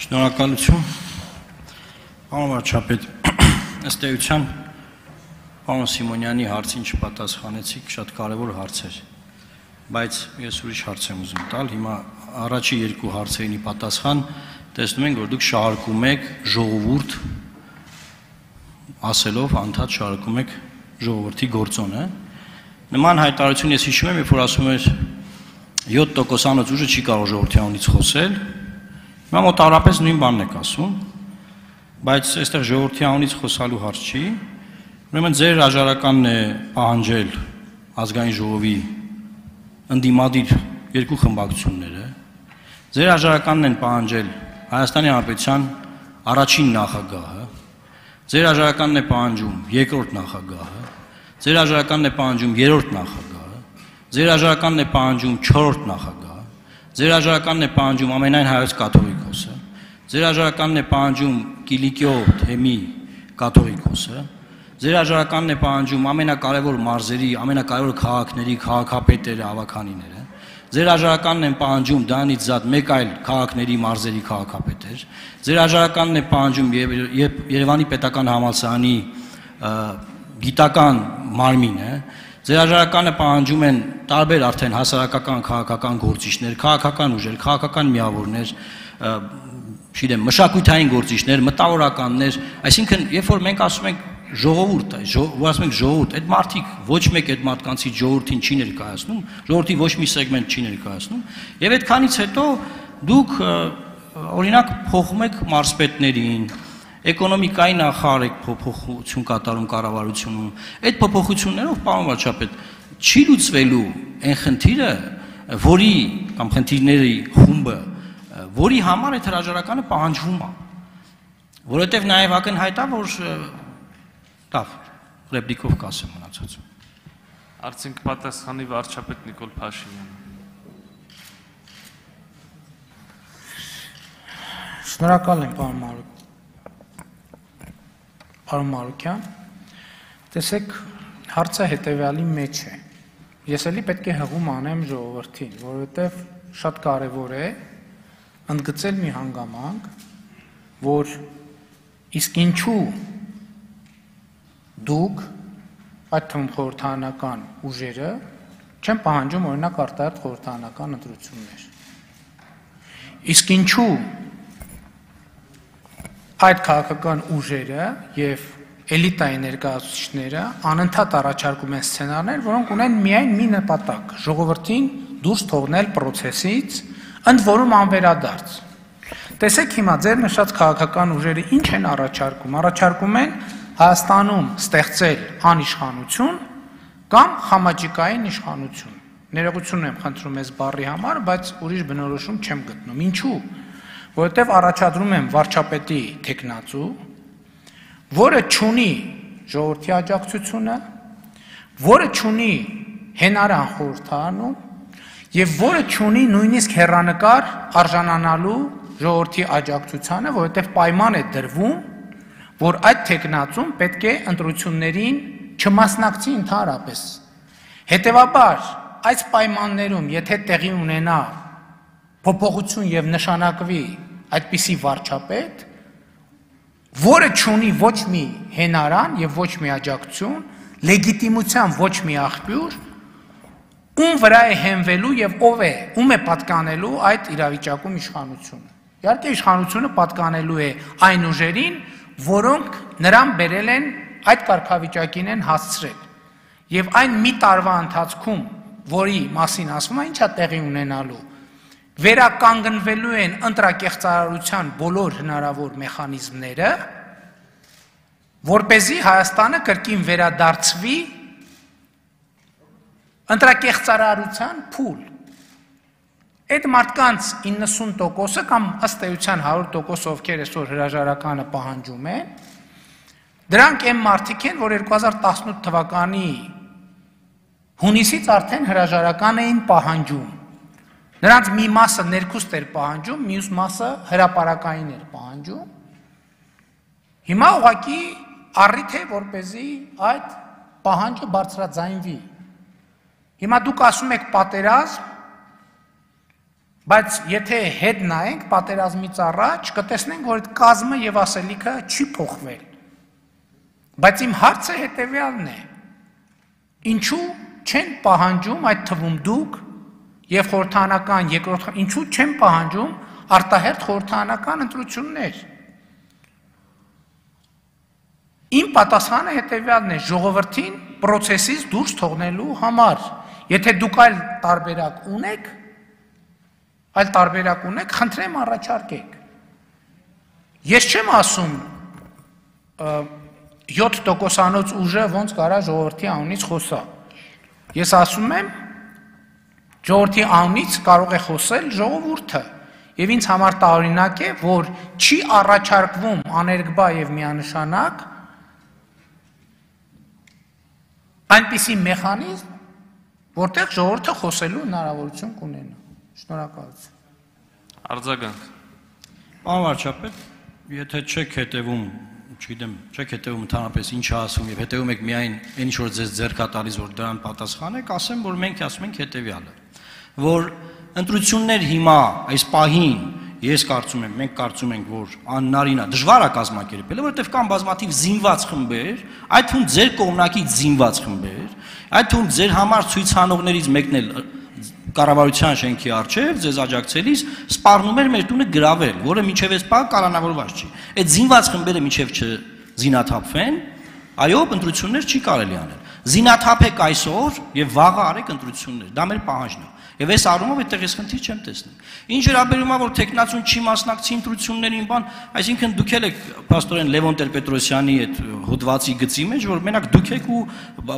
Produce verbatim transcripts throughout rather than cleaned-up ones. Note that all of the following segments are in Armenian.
Շնորհակալություն, պարոն վարչապետ, ըստ էության պարոն Սիմոնյանի հարցին չպատասխանեցիք, շատ կարևոր հարց էր, բայց ես ուրիշ հարց եմ ուզում տալ, հիմա առաջի երկու հարցերինի պատասխան տեսնում ենք, որ դուք շարունակում եք ժողովուրդ ասելով, անդադ շարունակում եք ժողովրդի գործոնը, նման հայտարարություն ես հիշում եմ, երբ որ ասում էր յոթ տոկոսանոց ուժը չի կարող ժողովրդի անունից խոսել, հիմա մոտավորապես նույն բանն եք ասում, բայց այստեղ ժողովրդի անունից խոսալու հարց չի, ուրեմն ձեր հրաժարականն է պահանջել ազգային ժողովի ընդդիմադիր երկու խմբակցությունները, ձեր հրաժարականն են պահանջել Հայաստանի Հանրապետության առաջին նախագահը, ձեր հրաժարականն է պահանջում երկրորդ նախագահը, ձեր հրաժարականն է պահանջում երրորդ նախագահը, ձեր հրաժարականն է պահանջում չորրորդ նախագահը, ձեր հրաժարականն է պահանջում ամենայն հայոց կաթողիկոսը, ձեր հրաժարականն է պահանջում Կիլիկիո թեմի կաթողիկոսը, ձեր հրաժարականն է պահանջում ամենակարևոր մարզերի, ամենակարևոր քաղաքների քաղաքապետերը, ավականիները, ձեր հրաժարականն են պահանջում դրանից զատ մեկ այլ քաղաքների մարզերի քաղաքապետեր, ձեր հրաժարականն է պահանջում Երևանի պետական համալսարանի գիտական մարմինը, ձեր հրաժարականը պահանջում են տարբեր արդեն հասարակական քաղաքական գործիչներ, քաղաքական ուժեր, քաղաքական միավորներ, չգիտեմ, մշակութային գործիչներ, մտավորականներ, այսինքն երբ որ մենք ասում ենք ժողովուրդ, որ ասում ենք ժողովուրդ, այդ մարդիկ ոչ մեկ այդ մարդկանցից ժողովրդին չի ներկայացնում, ժողովրդի ոչ մի սեգմենտ չի ներկայացնում, եւ այդքանից հետո դուք օրինակ փոխում եք մարզպետներին, էկոնոմիկայի նախարար եք փոփոխություն կատարում կառավարությունում, այդ փոփոխություններով, պարոն վարչապետ, չի լուծվելու այն խնդիրը, որի կամ խնդիրների խումբը, որի համար այդ հրաժարականը պահանջվում է, որովհետև նաև ակնհայտ է, որ լավ, ռեպլիկով կասեմ մնացածը։ Արդյոք պատասխանի վարչապետ Նիկոլ Փաշինյանը։ Շնորհակալ եմ, պարոն Մարուկյան։ Պարոն Մարուկյան, տեսեք, հարցը հետևյալի մեջ է։ Ես էլի պետք է հղում անեմ ժողովրդին, որովհետև շատ կարևոր է ընդգծել մի հանգամանք, որ իսկ ինչու դուք այդ թվում խորհրդարանական ուժերը չեն պահանջում օրինակ արտահերթ խորհրդարանական ընտրություններ։ Իսկ ինչու այդ քաղաքական ուժերը եւ էլիտայի ներկայացուցիչները անընդհատ առաջարկում են սցենարներ, որոնք ունեն միայն մի նպատակ՝ ժողովրդին դուրս թողնել process-ից, ընդ որում անվերադարձ։ Տեսեք հիմա ձեր նշած քաղաքական ուժերը ինչ են առաջարկում։ Առաջարկում են Հայաստանում ստեղծել անիշխանություն կամ խամաճիկային իշխանություն։ Ներողություն եմ խնդրում ես բառի համար, բայց ուրիշ բնորոշում չեմ գտնում։ Ինչու՞։ Որովհետև առաջադրում եմ վարչապետի թեկնածու, որը չունի ժողովրդի աջակցությունը, որը չունի հենարան խորհրդարանում եւ որը չունի նույնիսկ հեռանկար արժանանալու ժողովրդի աջակցությանը, որովհետև պայման է դրվում, որ այդ թեկնածուն պետք է ընտրություններին չմասնակցի ընդհանրապես։ Հետևաբար, այս պայմաններում, եթե տեղի ունենա փոփոխություն եւ նշանակվի այդպիսի վարչապետ, որը չունի ոչ մի հենարան եւ ոչ մի աջակցություն, լեգիտիմության ոչ մի աղբյուր, ում վրա է հենվելու եւ ով է, ում է պատկանելու այդ իրավիճակում իշխանությունը։ Իհարկե իշխանությունը պատկանելու է այն ուժերին, որոնք նրան բերել են այդ կարգավիճակին են հասցրել։ Եվ այն մի տարվա ընթացքում, որի մասին ասվում է, ինչա տեղի ունենալու, վերականգնվելու են ընտրակեղծարարության բոլոր հնարավոր մեխանիզմները, որպեսզի Հայաստանը կրկին վերադարձվի ընտրակեղծարարության փուլ։ Այդ մարդկանց իննսուն տոկոսը կամ ըստ էության հարյուր տոկոս ովքեր այսօր հրաժարականը պահանջում են, դրանք այն մարդիկ են, որ երկու հազար տասնութ թվականի հունիսից արդեն հրաժարական էին պահանջում։ Նրանց մի մասը ներքուստ էր պահանջում, մյուս մասը հրապարակային էր պահանջում։ Հիմա ուղղակի առիթ է, որպեսզի այդ պահանջը բարձրաձայնվի։ Հիմա դուք ասում եք պատերազմ, Բայց եթե հետ նայենք պատերազմից առաջ, կտեսնենք, որ այդ կազմը եւ ասելիքը չի փոխվել։ Բայց իմ հարցը հետեւյալն է. ինչու չեն պահանջում այդ թվում դուք եւ խորհրդանական երկրորդ ինչու չեն պահանջում արտահերթ խորհրդանական ընտրություններ։ Իմ պատասխանը հետեւյալն է՝ ժողովրդին process-ից դուրս թողնելու համար։ Եթե դուք այլ տարբերակ ունեք, այլ տարբերակ ունեք, խնդրեմ առաջարկեք։ Ես չեմ ասում յոթ տոկոսանոց ուժը ոնց կարա ժողովրդի անունից խոսա։ Ես ասում եմ ժողովրդի անունից կարող է խոսել ժողովուրդը։ Եվ ինձ համար տարօրինակ է, որ չի առաջարկվում աներկբա եւ միանշանակ այնպիսի մեխանիզմ, որտեղ ժողովուրդը խոսելու հնարավորություն կունենա։ Շնորհակալություն։ Արձագանք։ Պարոն վարչապետ, եթե չեք հետևում, չգիտեմ, չեք հետևում ընդհանրապես ինչ ասում եւ հետևում եք միայն այն ինչ որ ձեզ ձեռք է տալիս, որ դրան պատասխանեք, ասեմ, որ մենք ասում ենք հետեւյալը, որ ընտրություններ հիմա այս պահին ես կարծում եմ, մենք կարծում ենք, որ անհնարին է, դժվար է կազմակերպել, որովհետև կան բազմաթիվ զինված խմբեր, այդ թվում ձեր կողմնակից զինված խմբեր, այդ թվում ձեր համար ցույցանողներից մեկն էլ կառավարության շենքի առջև ձեզ աջակցելիս սպառնում էր մեր տունը գրավել, որը մինչև այս պահ կալանավորված չի։ Այդ զինված խմբերը մինչև չզինաթափվեն, այո, ընտրություններ չի կարելի անել։ Զինաթափեք այսօր եւ վաղը արեք ընտրություններ, դա մեր պահանջն է։ Եվ այս առումով այդտեղ ես խնդիր չեմ տեսնում։ Ինչ վերաբերում է, որ տեխնացուն չի մասնակցի ընտրություններին, բան, այսինքն դուք եք պաստորեն Լևոն Տեր-Պետրոսյանի այդ հոդվածի գծի մեջ, որ մենակ դուք եք ու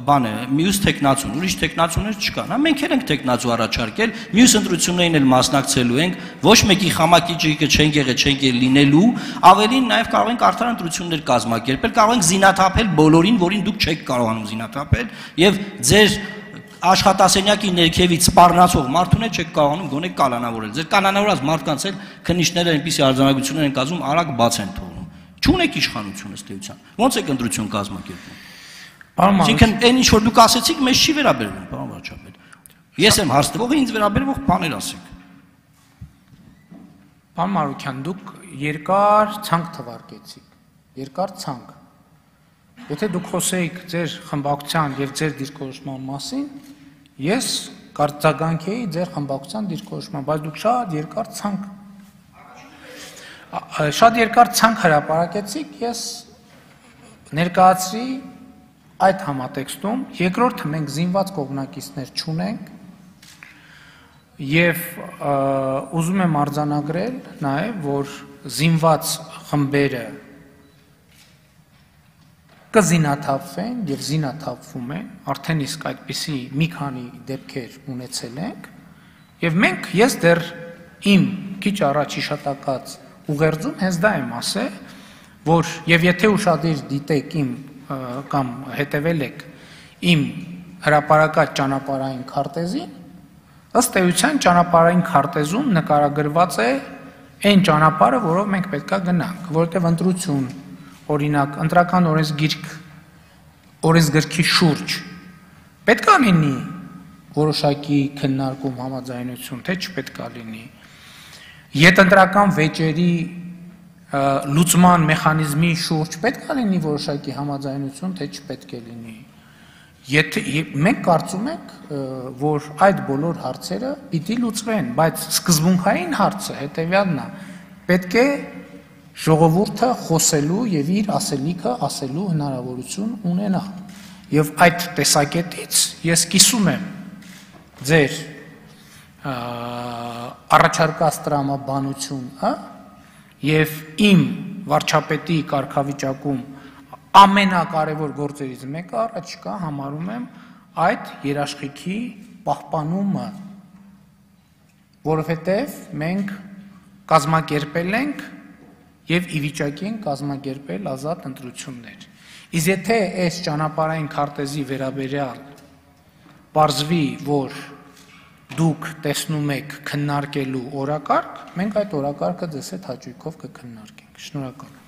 բանը, մյուս տեխնացուն, ուրիշ տեխնացուներ չկան։ Հա մենք էլ ենք տեխնացու առաջարկել, մյուս ընտրություններին էլ մասնակցելու ենք, ոչ մեկի խամակիջիկը չենք եղել, չենք ել լինելու, ավելին նաև կարող ենք արդար ընտրություններ կազմակերպել, կարող ենք զինաթափել բոլորին, որին դուք չեք կարողանում զինաթափել, եւ ձեր աշխատասենյակի ներքևից սպառնացող մարդուն չեք կարողանում գոնե կալանավորել։ Ձեր կալանավորած մարդկանց էլ քննիչները այնպիսի արձանագրություններ են կազմում, արագ բաց են թողնում։ Չունեք իշխանություն ըստ էության։ Ոնց եք ընտրություն կազմակերպում։ Այսինքն այն ինչ որ դուք ասեցիք, մեզ չի վերաբերվում, պարոն վարչապետ։ Ես եմ հարց տվողը, ինձ վերաբերող բաներ ասեք։ Պարոն Մարուկյան, դուք երկար ցանկ թվարկեցիք։ Երկար ցանկ։ Եթե դուք խոսեիք ձեր խմբակցության եւ ձեր դիրքորոշման մասին, ես կարծականքեի ձեր խմբակցության դիրքորոշման, բայց դուք շատ երկար ցանկ շատ երկար ցանկ հրապարակեցիք, ես ներկայացրի այդ համատեքստում, երկրորդը մենք զինված կողմնակիցներ չունենք եւ ուզում եմ արձանագրել նաեւ, որ զինված խմբերը կզինաթափվեն եւ զինաթափվում են, արդեն իսկ այդպիսի մի քանի դեպքեր ունեցել ենք եւ մենք ես դեռ իմ քիչ առաջ իշտակած ուղերձում հենց դա եմ ասել, որ եւ եթե ուշադիր դիտեք իմ կամ հետեւել եք իմ հրապարակած ճանապարհային քարտեզին, ըստ էության ճանապարհային քարտեզում նկարագրված է այն ճանապարհը, որով մենք պետքա գնանք, որովհետեւ ընտրություն օրինակ ընտրական օրենսգիրք օրենսգրքի շուրջ պետք է լինի որոշակի քննարկում համաձայնություն, թե չպետք է լինի։ Յետընտրական վեճերի լուծման մեխանիզմի շուրջ պետք է լինի որոշակի համաձայնություն, թե չպետք է լինի։ Եթե մենք կարծում ենք, որ այդ բոլոր հարցերը պիտի լուծվեն, բայց սկզբունքային հարցը հետեւյալն է, պետք է ժողովուրդը խոսելու եւ իր ասելիքը ասելու հնարավորություն ունենա։ Եվ այդ տեսակետից ես կիսում եմ ձեր առաջարկած տրամաբանությունը եւ իմ վարչապետի կարգավիճակում ամենակարևոր գործերից մեկը առաջիկա համարում եմ այդ երաշխիքի պահպանումը, որովհետեւ մենք կազմակերպել ենք եւ ի վիճակի են կազմակերպել ազատ ընտրություններ։ Իսկ եթե այս ճանապարհային քարտեզի վերաբերյալ պարզվի, որ դուք տեսնում եք քննարկելու օրակարգ, մենք այդ օրակարգը ձեզ հետ հաճույքով կքննարկենք։ Շնորհակալ եմ։